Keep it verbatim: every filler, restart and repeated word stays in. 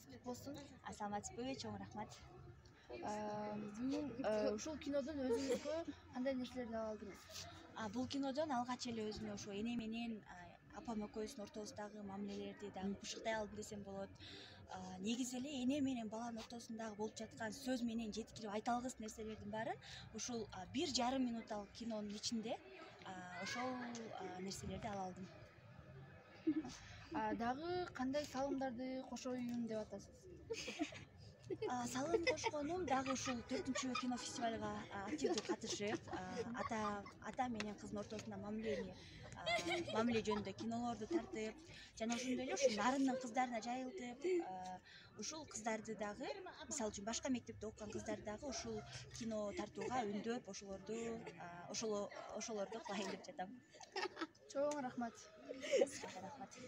куттук болсун. Саламатсызбы? Чоң рахмат. Бүгүн ушул кинодон өзүңүзгө кандай нерселерди ала алдыңыз? Бул кинодон алгач эле өзүмө ошо эне менен апам экөөбүздүн ортобуздагы мамилелерди дагы бышыктай алдым десем болот. Негизи эле эне менен баланын ортосундагы болуп жаткан сөз менен жеткирип айта алгыс нерселердин баары ушул бир жарым минуттагы кинонун ичинде ошол нерселерди ала алдым. Дагы кандай салымдарды кошоюн деп атасыз? Салым кошконум дагы ушул төртүнчү кинофестивалга активдүү катышып, ата ата менен кыздын ортосунда мамилени мамиле жөнүндө кинолорду тартып, жана ошондой эле ушул нарындын кыздарына жайылтып, ушул кыздарды дагы, мисалы үчүн башка мектепте окуган кыздарды дагы ушул кино тартууга үндөп, ошолорду ошолорду кылайын деп жатам. Чоң рахмат. Сизге рахмат.